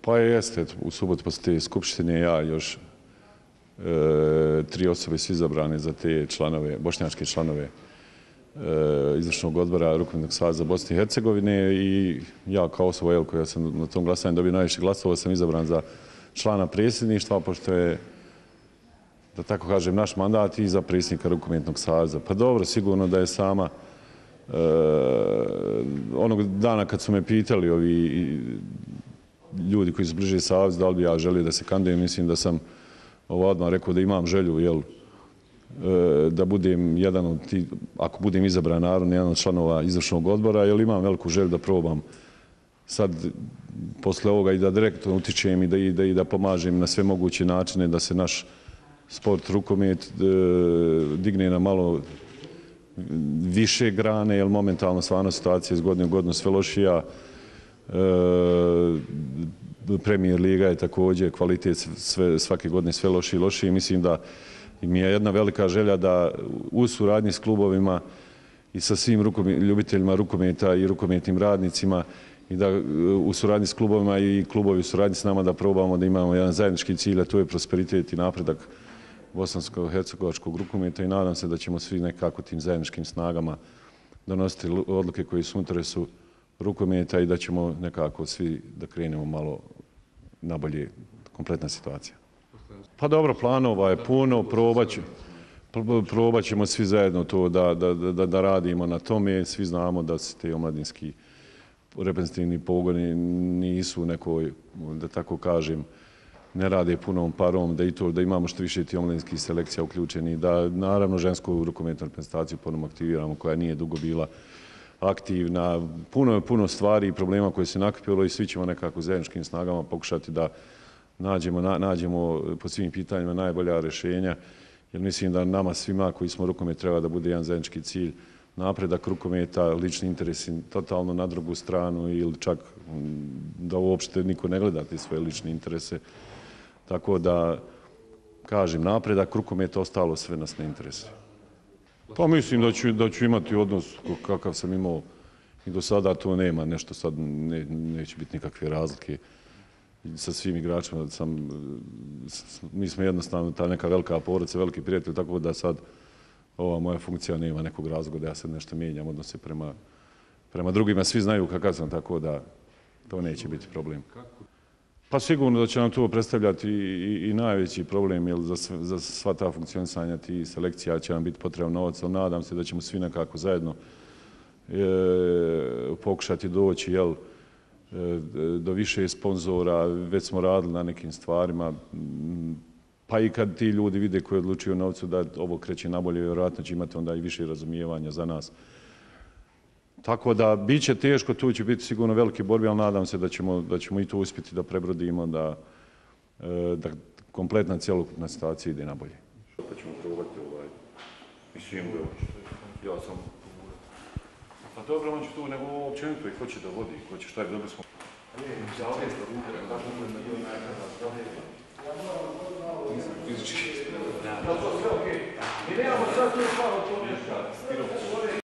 Pa jeste, u subotu poslije te skupštine ja još 3 osobe su izabrane za te članove, bošnjačke članove izvršnog odbora Rukometnog saveza Bosne i Hercegovine i ja kao osoba koja sam na tom glasanju dobio najviše glasova sam izabran za člana predsjedništva, pošto je, da tako kažem, naš mandat i za predsjednika Rukometnog saveza. Pa dobro, sigurno da je sama onog dana kad su me pitali ovi ljudi koji su bliže savezu da li bi ja želio da se kandidujem, mislim da sam odmah rekao da imam želju, da budem jedan od tih, ako budem izabran naravno, jedan od članova izvršnog odbora, jer imam veliku želju da probam sad posle ovoga i da direktno utičem i da pomažem na sve moguće načine da se naš sport, rukomet digne na malo više grane, jer momentalno stvarno situacija iz godine u godinu sve lošija. Premier liga je također, kvalitet svake godine sve lošiji i lošiji. Mislim da mi je jedna velika želja da u suradnji s klubovima i sa svim ljubiteljima rukometa i rukometnim radnicima i da u suradnji s klubovima i klubovi u suradnji s nama da probamo da imamo jedan zajednički cilj, a to je prosperitet i napredak bosansko-hercegovačkog rukometa i nadam se da ćemo svi nekako tim zajedničkim snagama donositi odluke koje su u interesu rukometa i da ćemo nekako svi da krenemo malo nabolje kompletna situacija. Pa dobro, planova je puno, probat ćemo svi zajedno to da radimo na tome. Svi znamo da se te omladinski reprezentativni pogoni nisu nekoj, da tako kažem, ne rade punom parom, da imamo što više ti omladinskih selekcija uključeni, da naravno žensku rukometnu reprezentaciju ponovno aktiviramo koja nije dugo bila aktivna. Puno stvari i problema koje se nakupilo i svi ćemo nekako zajedničkim snagama pokušati da nađemo po svim pitanjima najbolja rješenja, jer mislim da nama svima koji smo rukomet treba da bude jedan zajednički cilj, napredak rukometa, lični interesi totalno na drugu stranu ili čak da uopšte niko ne gleda te svoje lične interese. Tako da, kažem, napredak rukometa, ostalo sve nas ne interesuje. Pa mislim da ću imati odnos kakav sam imao i do sada, to nema nešto sad, neće biti nikakve razlike sa svim igračima. Mi smo jednostavno ta neka velika porodica, veliki prijatelj, tako da sad ova moja funkcija nema nekog razloga da ja sad nešto mijenjam odnose prema drugima. Svi znaju kakav sam, tako da to neće biti problem. Pa sigurno da će nam to predstavljati i najveći problem, jer za sva ta funkcionisanja tih selekcija će nam biti potreban novac, ali nadam se da ćemo svi nekako zajedno pokušati doći do više sponzora. Već smo radili na nekim stvarima, pa i kad ti ljudi vide koji odlučuju o novcu da ovo kreće nabolje, vjerojatno će imati onda i više razumijevanja za nas. Tako da, bit će teško, tu će biti sigurno velike borbe, ali nadam se da ćemo i to uspjeti da prebrodimo, da kompletna cjelokupna situacija ide nabolje. Pa ćemo probati mislim da ja sam... Pa dobro, on će tu, nego općenito i ko će da vodi, ko će šta je, dobro smo... Za ove stavite, tako da je bilo fizički. Da, to sve okej. Mi nemamo sad tu stvar od toga.